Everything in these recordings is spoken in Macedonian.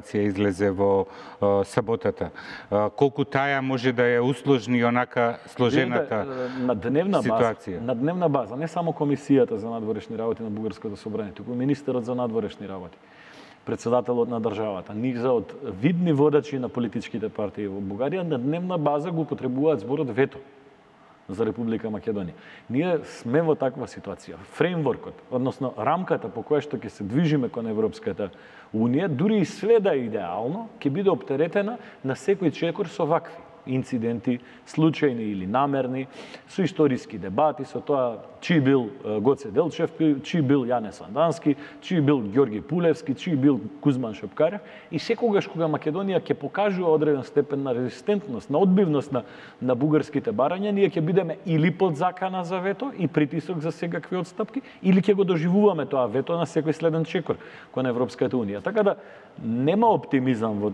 излезе во саботата. Колку таја може да ја усложни онака сложената ситуација? На дневна база, не само Комисијата за надворешни работи на Бугарското собрание, туку министерот за надворешни работи, председателот на државата, низа од видни водачи на политичките партии во Бугарија, на дневна база го употребуваат зборот вето за Република Македонија. Ние сме во таква ситуација. Фреймворкот, односно рамката по која што ќе се движиме кон Европската Унија, дури и све да е идеално, ќе биде оптеретена на секој чекор со вакви инциденти, случајни или намерни, со историски дебати, со тоа чии бил Гоце Делчев, чии бил Јане Сандански, чии бил Ѓорги Пулевски, чии бил Кузман Шопкарев. И секогаш кога Македонија ќе покажува одреден степен на резистентност, на одбивност на бугарските барања, ние ќе бидеме или под закана за вето и притисок за секакви одстапки, или ќе го доживуваме тоа вето на секој следен чекор кон Европската Унија. Така да нема оптимизам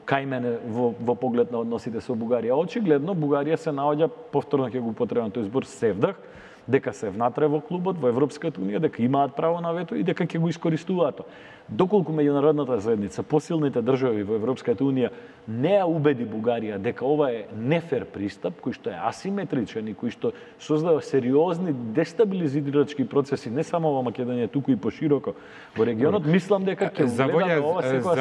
кај мене во поглед на односите со Бугарија. Очигледно Бугарија се наоѓа, повторно ќе го употребам тој збор, севдах, дека се внатре во клубот, во Европската Унија, дека имаат право на вето и дека ќе го искористуваат. Доколку меѓународната заедница, посилните држави во Европската Унија не ја убеди Бугарија дека ова е нефер пристап, кој што е асиметричен и кој што создава сериозни дестабилизирачки процеси не само во Македонија, туку и пошироко во регионот, мислам дека ќе вледа ова секоја